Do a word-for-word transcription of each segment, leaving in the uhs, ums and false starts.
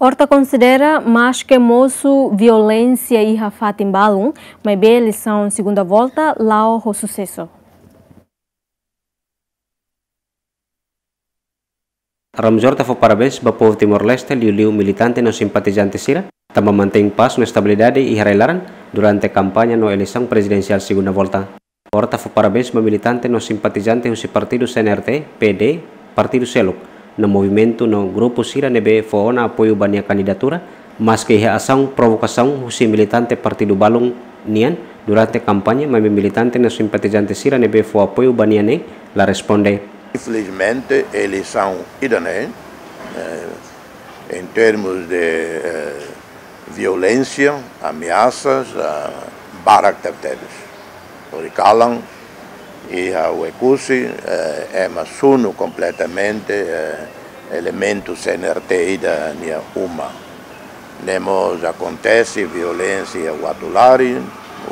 Horta konsidera, maske mosu violénsia iha fatin balun, maibé eleisaun segunda volta la'o ho susesu. Ramos Horta fó parabéns ba povu Timor-Leste, liuliu militante no simpatizante sira, tanba mantein pás no estabilidade iha rai-laran durante kampaña no eleisaun prezidensiál segunda volta. Horta fó parabéns ba militante no simpatizante husi partidu C N R T, P D, partidu seluk, no movimentu no grupu sira ne'ebé fó ona apoiu ba nia kandidatura, maske iha asaun provokasaun husi militante partidu balun nian durante kampaña, maibé militante no simpatizante sira ne'ebé fó apoiu ba nia ne'e la responde. Infelizmente, eleisaun ida-ne'e, eh, em termos de, eh, violénsia, ameasas, ah, barak tebetebes. Horikalan, iha Oekusi, eh, ema sunu kompletamente, eh, elementu C N R T ida nia uma. Ne'e mós akontese violénsia iha Uatulari,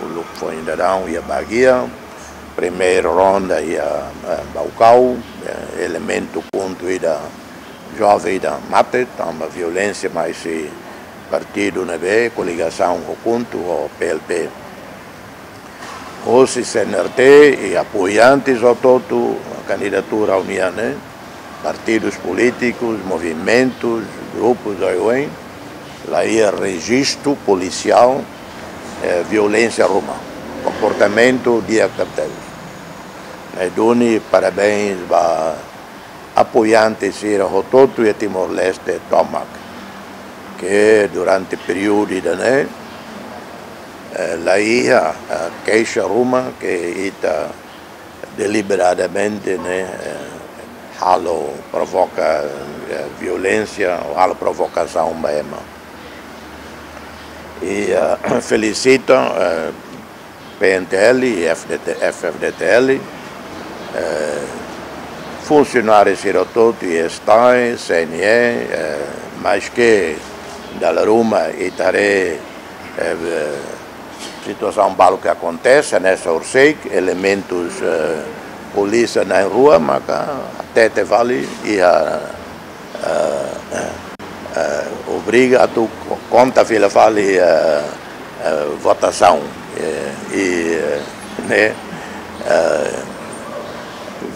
uluk foin daudaun iha Baguia, primeira ronda iha, eh, Baucau, eh, elementu KHUNTO ida, joven ida mate, tanba violénsia mai husi partidu ne'ebé koligasaun ho KHUNTO ho P L P. Hosi C N R T i apoiantes hotu-hotu kandidatura união, ne'e, partidus polítikus, movimentus, grupus oioin, la iha rejistu polisiál, eh, violénsia ruma, komportamentu di'ak tebes. Ne'e duni parabéns ba apoiante sira hotu-hotu iha Timor-Leste tomak, ke durante períodu ida-ne'e, eh, la iha, eh, keixa ruma ke ita deliberadamente, ne'e, eh, halo provoka, eh, violénsia ou halo provokasaun ba ema. I, eh, felisita, eh, P N T L i F D T, F F D T L, eh, funsionáriu sira hotu-hotu, STAE, C N E, eh, maske dala ruma ita haree, eh, situasaun balu ke akontese, ne'e, sira sei elementus, eh, polísia na'in-rua, maka hatete fali iha, eh, eh, obriga atu ko-, konta fila fali, eh, eh, votasaun, eh, i, eh, ne'e, eh,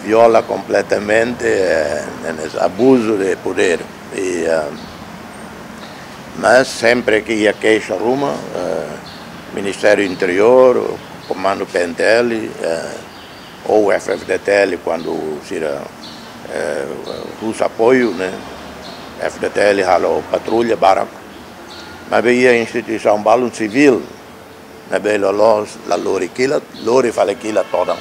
viola kompletamente, eh, ne'e, ne'e abuzu de podér. I, eh, mas sempre ke iha keixa ruma, eh, Ministériu Interiór, Komandu P N T L, eh, ou F F D T L, kuandu sira, eh, husu apoiu, ne'e, F F D T L halo patrulla barak. Maibé iha instituisaun balun sivíl, ne'ebé loloos la lori kilat, lori fali kilat todan.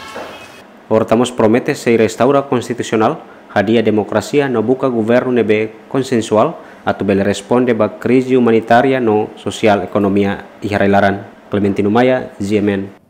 Horta mós promete sei restaura konstitusionál, hadi'a demokrasia no buka governu ne'ebé konsensuál atu bele responde ba krize umanitária no sosiál ekonomia iha rai-laran. Clementino Maia, G M N.